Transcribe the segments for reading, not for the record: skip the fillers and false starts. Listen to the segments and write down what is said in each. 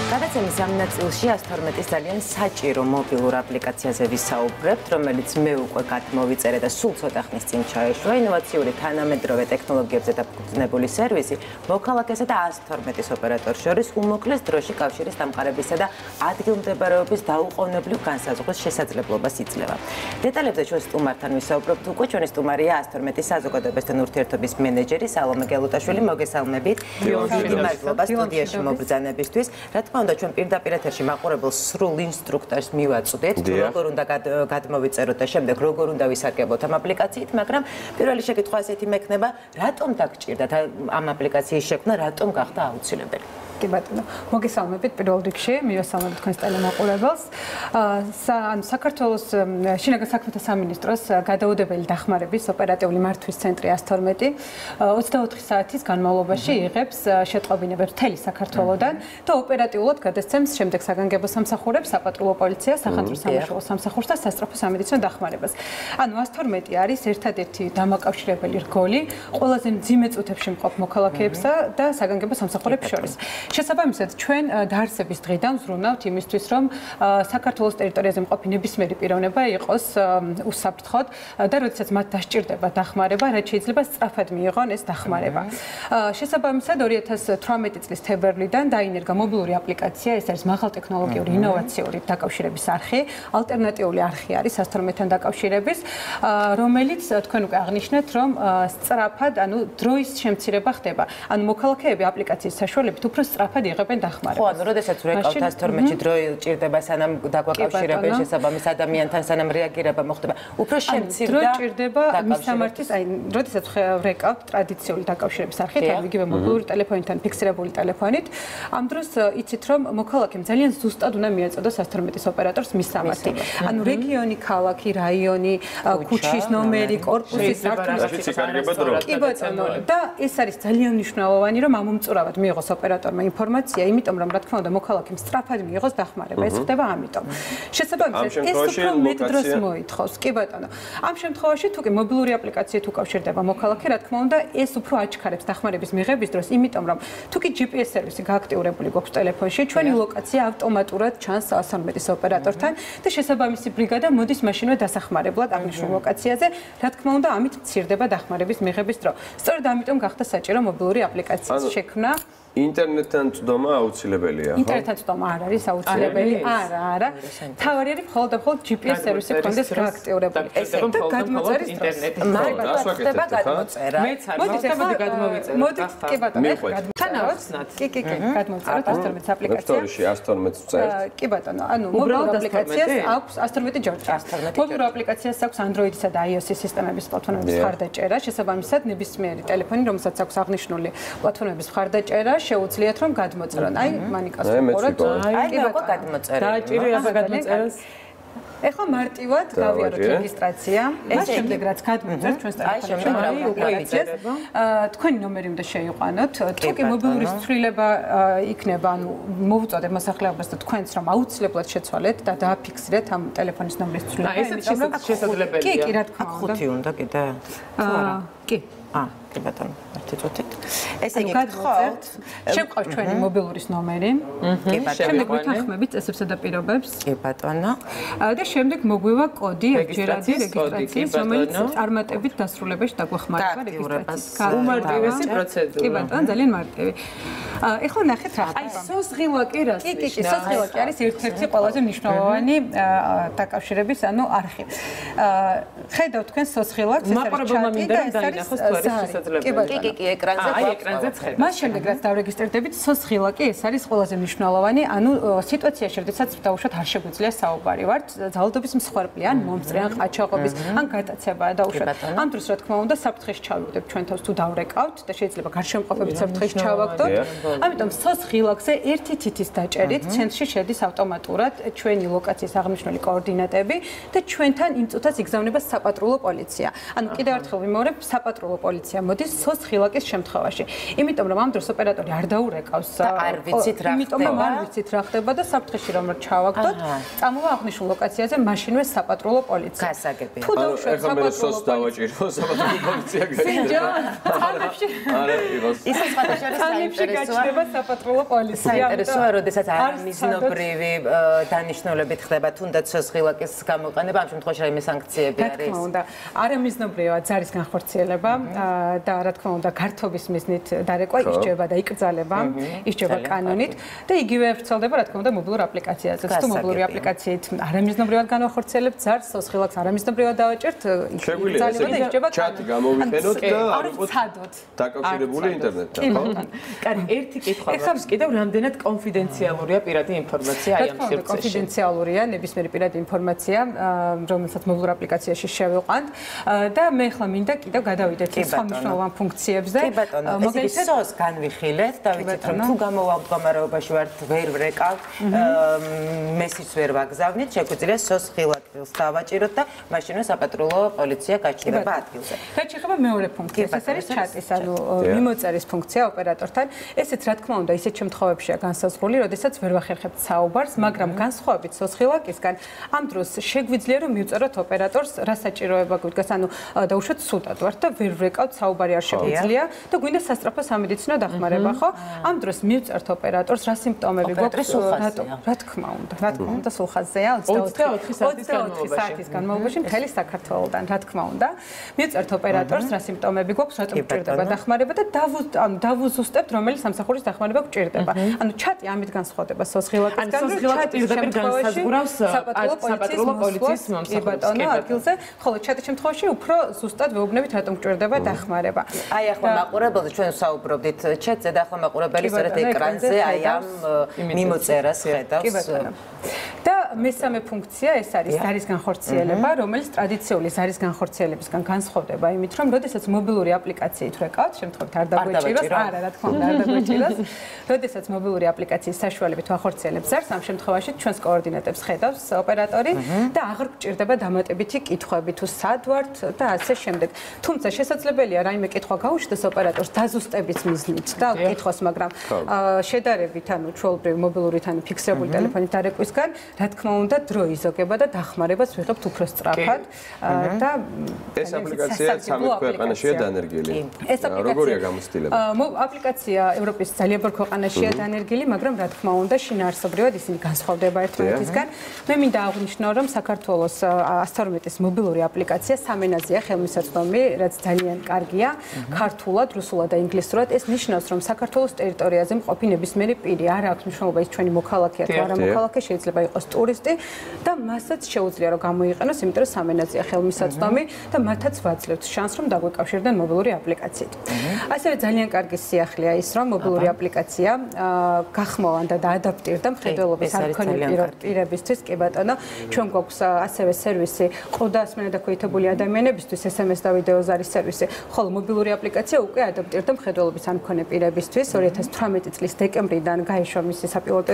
გადაცემის ამ ნაწილში 112-ის ძალიან საჭირო მობილურ აპლიკაციაზე ვისაუბრებთ, რომელიც მე უკვე გადმოვიწერე და სულ ცოტა ხნის წინ ჩაეშვა. ინოვაციური თანამედროვე ტექნოლოგიებზე დაფუძნებული სერვისი მოქალაქესა და 112-ის ოპერატორს შორის უმოკლეს დროში კავშირის დამყარებისა და ადგილმდებარეობის დაუყოვნებლივ განსაზღვრის შესაძლებლობას იძლევა. დეტალებზე ჩვენ სტუმართან ვისაუბრებთ უკვე. ჩვენი სტუმარია 112-ის საზოგადოებასთან ურთიერთობის მენეჯერი სალომე გელუტაშვილი. მოგესალმებით. დიდი მადლობა სტუდიაში მობრძანებისთვის. რა თქმა უნდა, ჩვენ პირდაპირ ეთერში მაყურებელს სრულ ინსტრუქტორს მივაწვდეთ, როგორ უნდა გადმოვიწეროთ და შემდეგ როგორ უნდა ვისარგებლოთ ამ აპლიკაციით, მაგრამ პირველი შეკითხვა ასეთი მექნება, რატომ დაგჭირდათ ამ აპლიკაციის შექმნა, რატომ გახდა აუცილებელი? კი ბატონო, მოგესალმებით პირველ რიგში, მივესალმებით თქვენს ტელემაყურებელს. საქართველოს შინაგან საქმეთა სამინისტროს გადაუდებელი დახმარების ოპერატიული მართვის ცენტრი 112 24 საათის განმავლობაში იღებს შეტყობინებებს მთელი საქართველოდან და ოპერატიულად გადასცემს შემდეგ საგანგებო სამსახურებს, საპატრულო პოლიციას, სახანძრო სამაშველო სამსახურს და სასწრაფო სამედიცინო დახმარებას. ანუ 112 არის ერთადერთი დამაკავშირებელი რგოლი ყველაზე მძიმე წუთებში მყოფ მოქალაქეებსა და საგანგებო სამსახურებს შორის. შესაბამისად, ჩვენ დაარსების დღიდან ვზრუნავთ იმისთვის, რომ საქართველოს ტერიტორიაზე მყოფი ნებისმიერი პიროვნება იყოს უსაფრთხოდ და როდესაც მათ დასჭირდება დახმარება, რაც შეიძლება სწრაფად მიიღონ ეს დახმარება. შესაბამისად, 2018 წლის თებერვლიდან დაინერგა მობილური აპლიკაცია, ეს არის მაღალტექნოლოგიური ინოვაციური დაკავშირების არხი, ალტერნატიული არხი არის 112-თან დაკავშირების, რომელიც თქვენ უკვე აღნიშნეთ, რომ სწრაფად, ანუ დროის შემცირება ხდება. ანუ მოქალაქეები აპლიკაციის საშუალებით უფრო სწრაფად იღებენ დახმარებას. ხო, ანუ როდესაც ვეკავთ 112-ში დრო ჭირდება სანამ დაგვაკავშირებენ შესაბამის ადამიანთან, სანამ რეაგირება მოხდება, უფრო შემცირდა დრო ჭირდება მისამართის, აი, როდესაც ვეკავთ ტრადიციული დაკავშირების არხით, ანუ იგივე მობილური ტელეფონიდან, ფიქსირებული ტელეფონით, ამ დროს იცით, რომ მოქალაქემ ძალიან ზუსტად უნდა მიეწოდოს 112-ის ოპერატორს მისამართი. ანუ რეგიონი, ქალაქი, რაიონი, ქუჩის ნომერი, კორპუსის სართული. კი ბატონო, და ეს არის ძალიან მნიშვნელოვანი, რომ ამომწურავად მიიღოს ოპერატორმა ინფორმაცია, იმიტომ რომ რა თქმა უნდა მოქალაქემ სწრაფად მიიღოს დახმარება. ეს ხდება ამიტომ. შესაბამისად, ეს უფრო მეტ დროს მოითხოვს. კი ბატონო. ამ შემთხვევაში თუ კი მობილური აპლიკაციით უკავშირდება მოქალაქე, რა თქმა უნდა, ეს უფრო აჩქარებს დახმარების მიღების დროს, იმიტომ რომ თუ კი GPS სერვისი გააქტიურებული გვაქვს ტელეფონში, ჩვენი ლოკაცია ავტომატურად ჩანს 112-ის ოპერატორთან და შესაბამისი ბრიგადა მოდის მაშინვე დასახმარებლად აღნიშნულ ლოკაციაზე, რა თქმა უნდა, ამით მცირდება დახმარების მიღების დრო. სწორედ ამიტომ გახდა საჭირო მობილური აპლიკაციის შექმნა. ინტერნეტთან წვდომა აუცილებელია, ხო? ინტერნეტთან წვდომა არ არის აუცილებელი. არა. თავარი არის მხოლოდ და მხოლოდ GPS სერვისი კონდეს გააქტიურებული. ეს და გადმოწერის ინტერნეტი. ხდება გადმოწერა. მეც არ მოხდება გადმოვიწერო. მოდით, კი ბატონო, თანაოცნად. კი, გადმოწეროთ 112-ის აპლიკაცია. ფაქტორში 112-ს წერთ. კი ბატონო, ანუ მობილურ აპლიკაციას აქვს 112 ჯორჯი. მობილურ აპლიკაციას აქვს Android-ისა და iOS-ის სისტემების პლატფორმების მხარდაჭერა. შესაბამისად, ნებისმიერი ტელეფონი, რომელსაც აქვს აღნიშნული პლატფორმების მხარდაჭერა, შეუძლიათ რომ გადმოწერონ. აი, მანიკას ვუყუროთ. აი, მე გადმოწერე. დააჭირო ახლა გადმოწერას. ეხლა მარტივად გავიაროთ რეგისტრაცია. ეს შემდეგ რაც გადმოწერთ ჩვენს ტელეფონში, უკვე იცით. თქვენი ნომერი უნდა შეიყვანოთ. თუ კი მობილური ცვლილება იქნება, ანუ მოვუწოდეთ მოსახლეობას და თქვენს რომ აუცილებლად შეცვალეთ და დააფიქსირეთ ამ ტელეფონის ნომრის ცვლილება. ესეც შესაძლებელია. კი, რა თქმა უნდა. 5 უნდა კიდე. კი. კი ბატონო, ერთი წუთით. ესე იგი, გთხოვთ, შევყავთ ჩვენი მობილურის ნომერი. კი ბატონო. შემდეგ ვითანხმებით წესებსა და პირობებს. კი ბატონო. და შემდეგ მოგვივა კოდი ერთჯერადი რეგისტრაციის, რომელიც წარმატებით დასრულებაში დაგვეხმარება რეგისტრაციის. უმარტივესი პროცედურა. კი ბატონო, ძალიან მარტივი. ეხლა ნახეთ რა. აი, სოცხილაკი რას კი, სოცხილაკი არის ერთ-ერთი ყველაზე მნიშვნელოვანი დაკავშირების, ანუ არხი. ხედავთ თქვენ სოცხილაკს, ეს არის ჩატი და ეს არის კი, ეკრანზე. აი, ეკრანზეც ხედავთ. მას შემდეგ რაც დავრეგისტრირდებით, სოცხილაკი ეს არის ყველაზე მნიშვნელოვანი, ანუ სიტუაციაში, როდესაც დაუშვათ არ შეგვიძლია საუბარი ვართ, ძალადობის მსხვერპლი, ან მომწრე, ან ყაჩაღობის, ან გატაცებაა დაუშვათ. ამ დროს რა თქმა უნდა, საფრთხეში ჩავიგდებ ჩვენ თავს თუ დავრეკავთ და შეიძლება გარშემოყოფებით საფრთხეში ჩავაგდოთ. ამიტომ სოცხილაკზე ერთი თითის დაჭერით ცენტრში შედის ავტომატურად ჩვენი ლოკაციის აღნიშნული კოორდინატები და ჩვენთან იმ წუთას იგზავნება საპატრულო პოლიცია. ანუ კიდევ ერთხელ ვიმეორებ, საპატრულო პოლიცია მოდის სოცხილაკის შემთხვევაში. იმიტომ რომ ამ დროს ოპერატორი არ დაურეკავს და არ ვიცით რა იმიტომ რომ არ ვიცით რა ხდება და საფრთხეში რომ ჩავაგდოთ, წამოვა აღნიშნულ ლოკაციაზე მაშინვე საპატრულო პოლიცია. გასაგებია. თუ დაუშვათ საპატრულო დავაჭირო საპატრულო პოლიცია გაიგო. არა იყოს. ისე სხვადასხვა საინტერესოა. გაჩნდება საპატრულო პოლიცია. საინტერესოა, როდესაც არამიზნობრივი დანიშნულებით ხდება თუნდაც სოცხილაკის გამოყენება, ამ შემთხვევაში რაიმე სანქციები არის. რა თქმა უნდა, არამიზნობრივად ძალის განხორციელება და რა თქმა უნდა, გართობის მიზნით დარეკვა ისჯება და იკრძალება, ისჯება კანონით და იგივე ვრცელდება რა თქმა უნდა მობილურ აპლიკაციაზე. თუ მობილური აპლიკაციით არამიზნობრივად განახორციელებთ ძალს, სოცხილაკს არამიზნობრივად დავაჭერთ, იკრძალება და ისჯება ჩატი გამოვიყენოთ და არ ვიყოთ ცადოთ. დაკავშირებული ინტერნეტთან, ხო? კარი, ერთი კითხვა მაქვს კიდევ, რამდენად კონფიდენციალურია პირადი ინფორმაცია აი ამ სივრცეში? კონფიდენციალურია ნებისმიერი პირადი ინფორმაცია, რომელსაც მობილურ აპლიკაციაში შევიყვანთ და მე ახლა მინდა კიდევ გადავიდეთ სხვა მნიშვნელოვან ფუნქციებზე. კი ბატონო, ეს სოს განვიხილეთ და ვიცით რომ თუ გამოვავთ მდგომარეობაში ვართ, ვერ ვრეკავთ, მესის ვერ ვაგზავნით, შეგვიძლია სოს ხილაკს დავაჭიროთ და მაშინვე საპატრულო პოლიცია გაჩნდება ადგილზე. რაც შეეხება მეორე ფუნქციას, ეს არის ჩატის, ანუ მიმოწერის ფუნქცია ოპერატორთან. ესეც რა თქმა უნდა ისეთ შემთხვევებშია განსაზღვრული, როდესაც ვერ ვახერხებთ საუბარს, მაგრამ განსხვავებით სოცხილაკისგან, ამ დროს შეგვიძლია რომ მივწეროთ ოპერატორს, რა საჭიროება გვიდგას, ანუ დაუშვათ სუდად ვართ და ვერ ვრეკავთ, საუბარი არ შეგვიძლია და გვინდა სასწრაფო სამედიცინო დახმარება, ხო? ამ დროს მივწერთ ოპერატორს, რა სიმპტომები გვაქვს, რა თქმა უნდა, სულხაზეა 24 საათის განმავლობაში მთელი საქართველოდან, რა თქმა უნდა. მივწერთ ოპერატორს, რა სიმპტომები გვაქვს, რატომ გვჭირდება დახმარება და დავუზუსტებთ, რომელი სამსახურის დახმარება გვჭირდება. ანუ ჩატი ამით განსხვავდება სოცხილაკისგან, პირდაპირ განსაზღვრავს საპატრულო პოლიციის მომსახურებას ადგილზე, ხოლო ჩატის შემთხვევაში უფრო ზუსტად ვეუბნებით, რატომ გვჭირდება დახმარება. აი ახლა მაყურებელს ჩვენ საუბრობდით ჩატზე და ახლა მაყურებელი სწორედ ეკრანზე აი ამ მიმოწერას ხედავს. და მესამე ფუნქცია ეს არის ზარის განხორციელება, რომელიც ტრადიციული ზარის განხორციელებისგან განსხვავდება იმით, რომ როდესაც მობილური აპლიკაციით ვეკავთ, შემთხვევით არ დაგვეჭიროს, არა, რა თქმა უნდა, არ დაგვეჭიროს. როდესაც მობილური აპლიკაციის საშუალებით ვახორციელებთ ზარს, ამ შემთხვევაში ჩვენს კოორდინატებს ხედავს ოპერატორი და აღარ გვჭირდება დამატებითი კითხვები თუ სად ვართ და ასე შემდეგ. თუმცა შესაძლებელია რაიმე კითხვა გაუშვდეს ოპერატორს დაზუსტების მიზნით და კითხოს, მაგრამ შედარებით, ანუ ჩვეულებრივი მობილურით ანუ ფიქსირებული ტელეფონით დარეკვისგან, რა თქმა უნდა, დრო იზოგება და დახმარებას ვიღებთ უფრო სწრაფად და ეს აპლიკაცია 13 ქვეყანაშია დანერგილი. როგორია გამოცდილება? აპლიკაცია ევროპის ძალიან ბევრ ქვეყანაშია დანერგილი, მაგრამ რა თქმა უნდა, შინაარსობრივად ისინი განსხვავდება ერთმანეთისგან. მე მინდა აღვნიშნო, რომ საქართველოს 112-ის მობილური აპლიკაცია სამენაზეა ხელმისაწვდომი, რაც ძალიან კარგია, ქართულად, რუსულად და ინგლისურად. ეს ნიშნავს, რომ საქართველოს ტერიტორიაზე მყოფი ნებისმიერი პირი, არ აქვს მნიშვნელობა ის ჩვენი მოქალაქეა თუ არა მოქალაქე, შეიძლება იყოს ტურისტი და მასაც შეუძლია რომ გამოიყენოს, იმიტომ რომ სამენაზეა ხელმისაწვდომი და მათაც ვაძლევთ შანსს, რომ დაგვეკავშირდნენ მობილური აპლიკაციით. ასევე ძალიან კარგი სიახლეა ის, რომ მობილური აპლიკაცია გახმოვანდა და ადაპტირდა მხედველობის არ მქონე პირებისთვის, კი ბატონო, ჩვენ გვაქვს ასევე სერვისი ყრუდასმენა დაქვეითებული ადამიანებისთვის, SMS და ვიდეო ზარის სერვისი, ხოლო მობილური აპლიკაცია უკვე ადაპტირდა მხედველობის არ მქონე პირებისთვის. 2018 წლის დეკემბრიდან გაიშვა მისი საპილოტო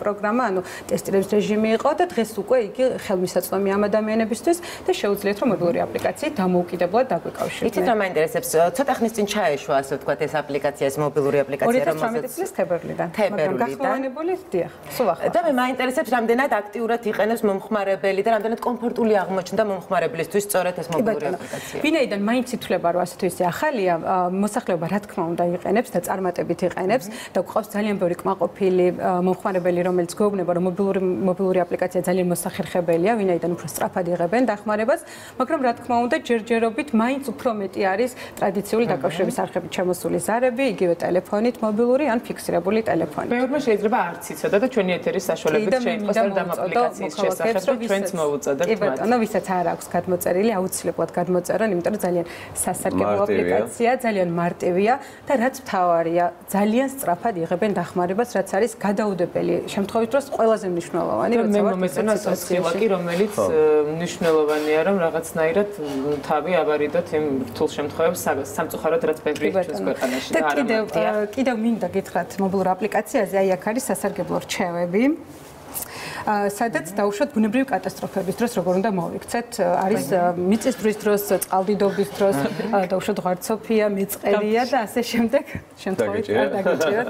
პროგრამა, ანუ ტესტირების რეჟიმი იყო და დღეს უკვე იგი ხელმისაწვდომია ამ ადამიანებისთვის და შეუძლიათ რომ მობილური აპლიკაციით დამოუკიდებლად დაგვეკავშირდნენ. იცით რა მაინტერესებს? ცოტა ხნის წინ ჩაეშვა, ასე ვთქვათ, ეს აპლიკაცია, ეს მობილური აპლიკაცია, 2018 წლის თებერვლიდან. მაგრამ გახმოვანებული დიახ, სულ ახლა. და მე მაინტერესებს, რამდენად აქტიურად იყენებს მომხმარებელი და რამდენად კომფორტული აღმოჩნდა მომხმარებლისთვის სწორედ ეს მობილური აპლიკაცია. ვინაიდან მაინც ითვლება, რომ ასე თუ ისე ახალია, მოსახლეობა რა თქმა უნდა იყენებს და წარმატებით იყენებს და გვყავს ძალიან ბევრი კმაყოფილი მომხმარებელი, რომელიც გვეუბნება, რომ მობილური აპლიკაცია ძალიან მოსახერხებელია, ვინაიდან უფრო სწრაფად იღებენ დახმარებას, მაგრამ რა თქმა უნდა, ჯერჯერობით მაინც უფრო მეტი არის ტრადიციული დაკავშირების არხებით ჩამოსული ზარები, იგივე ტელეფონით, მობილური ან ფიქსირებული ტელეფონით. ბევრმა შეიძლება არც იცოდა და ჩვენი ეთერის საშუალებით შეიტყოს ამ აპლიკაციის შესახებ და ჩვენც მოვუწოდებთ მათ. კი ბატონო, ვისაც არ აქვს გადმოწერილი, აუცილებლად გადმოწერონ, იმიტომ რომ ძალიან სასარგებლო აპლიკაცია, ძალიან მარტივია და რაც მთავარია, ძალიან სწრაფად იღებენ დახმარებას, რაც არის გადაუდებელი შემთხვევით დროს ყველაზე მნიშვნელოვანი, როცა ვარ მომეწონა სოცხილაკი, რომელიც მნიშვნელოვანია, რომ რაღაცნაირად თავი ავარიდოთ იმ რთულ შემთხვევებს სამწუხაროდ რაც ბევრი ჩვენს ქვეყანაში და არა მარტივია. კიდევ მინდა გითხრათ მობილურ აპლიკაციაზე, აი აქ არის სასარგებლო რჩევები. სადაც დაუშვათ ბუნებრივი კატასტროფების დროს როგორ უნდა მოვიქცეთ. არის მიწისძვრის დროს, წყალდიდობის დროს, დაუშვათ ღვარცოფია, მეწყერია და ასე შემდეგ. შემთხვევით არ დაგიჭიროთ.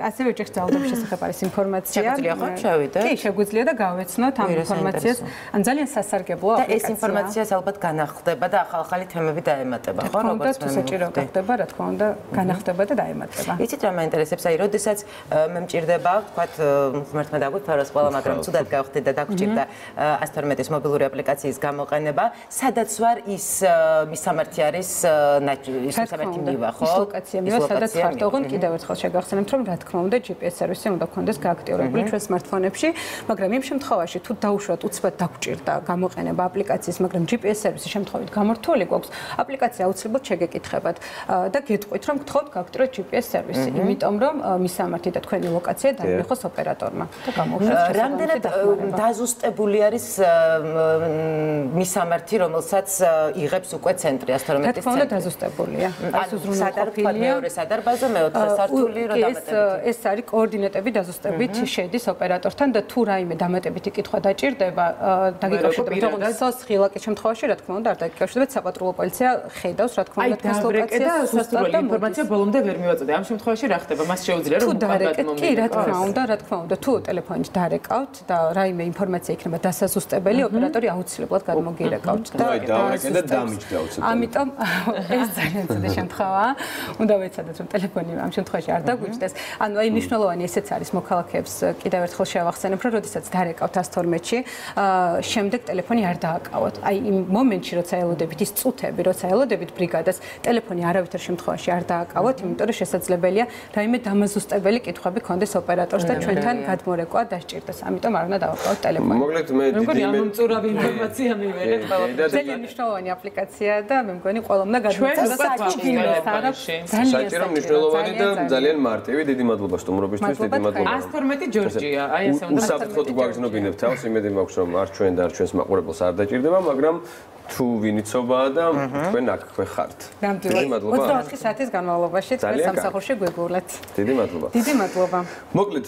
ასევე ეჭვს ძალდობის შესახებ არის ინფორმაცია. შეგვიძლია ხო შევიდეთ? კი, შეგვიძლია და გავეცნოთ ამ ინფორმაციას. ან ძალიან სასარგებლოა აპლიკაცია. და ეს ინფორმაციას ალბათ განახდება და ახალ-ახალი თემები დაემატება, ხო, როგორც მე საჭირო გახდება, რა თქმა უნდა, განახდება და დაემატება. იცით რა მაინტერესებს, აი, როდესაც მე მჭირდება, ვთქვათ, ღმერთმა დაგვიფაროს ყველა, მაგრამ ცუდად გავხდით და დაგჭირდა 112-ის მობილური აპლიკაციის გამოყენება, სადაც ვარ ის მისამართი არის ის მისამართი მივა, ხო? ის ლოკაცია მივა, სადაც ხართ, ოღონდ კიდევ ერთხელ შეგახსენებთ, რომ რა თქმა უნდა, GPS სერვისი უნდა გქონდეს გააქტიურებული ჩვენ smartphone-ებში, მაგრამ იმ შემთხვევაში თუ დაუშვათ უცბად დაგჭირდა გამოყენება აპლიკაციის, მაგრამ GPS სერვისი შემთხვევით გამორთული გვაქვს, აპლიკაცია აუცილებლად შეგეკითხებათ და გეტყვით, რომ გთხოვთ გააქტიუროთ GPS სერვისი, იმიტომ რომ მისამართი და თქვენი ლოკაცია დაინახოს ოპერატორმა და გამოუშვათ. რამდენად დაზუსტებული არის მისამართი, რომელსაც იღებს უკვე ცენტრი 112-ის ცენტრი? რა თქმა უნდა, დაზუსტებულია. ეს უზრუნველყოფილია მეორე სადარბაზო, მეოთხე სართული რო დამატებით. ეს არის კოორდინატები დაზუსტებით შედის ოპერატორთან და თუ რაიმე დამატებითი კითხვა დაჭირდება, დაგიკავშირებთ, თუმცა სოცხილაკის შემთხვევაში, რა თქმა უნდა, არ დაგიკავშირებთ, საპატრულო პოლიცია ხედავს, რა თქმა უნდა, თქვენს ლოკაციას სუსტად და ინფორმაცია ბოლომდე ვერ მივაწოდე. ამ შემთხვევაში რა ხდება? მას შეუძლია რომ უკან კი, რა თქმა უნდა, თუ ტელეფონით დარეკავთ და რაიმე ინფორმაცია იქნება დასაზუსტებელი, ოპერატორი აუცილებლად გადმოგირეკავთ და დავარეკე და დამიჯდა უცებ. ამიტომ ეს ძალიან ცუდი შემთხვევაა. უნდა ვეცადოთ რომ ტელეფონი ამ შემთხვევაში არ დაგვიჯდეს. ანუ აი მნიშვნელოვანი ესეც არის მოქალაქეებს კიდევ ერთხელ შევახსენებ, რომ როდესაც დარეკავთ 112-ში, შემდეგ ტელეფონი არ დააკავოთ. აი იმ მომენტში, როცა ელოდებით ის წუთები, როცა ელოდებით ბრიგადას, ტელეფონი არავითარ შემთხვევაში არ დააკავოთ, იმიტომ რომ შესაძლებელია რაიმე დამაზუსტებელი კითხვები ქონდეს ოპერატორს და ჩვენთან გადმორეკვა დასჭირდეს. ამიტომ არ უნდა დავაკავოთ ტელეფონი. მოკლედ მე დიდი ამომწურავი ინფორმაცია მივიღეთ ყველაფერს. ძალიან მნიშვნელოვანი აპლიკაციაა და მე მგონი ყველამ უნდა გადმოწერა საჭირო მნიშვნელოვანი და ძალიან მარტივი. დიდი მადლობა სტუმრობისთვის, დიდი მადლობა. 112 ჯორჯია, აი ასე უნდა უსაფრთხოდ გვაგზნობინებ თავს, იმედი მაქვს რომ არ ჩვენ და არ ჩვენს მაყურებელს არ დაჭირდება, მაგრამ თუ ვინიცობაა და თქვენ აქვე ხართ. დიდი მადლობა. 24 საათის განმავლობაში თქვენ სამსახურში გვეგუვლეთ. დიდი მადლობა. დიდი მადლობა. მოკლედ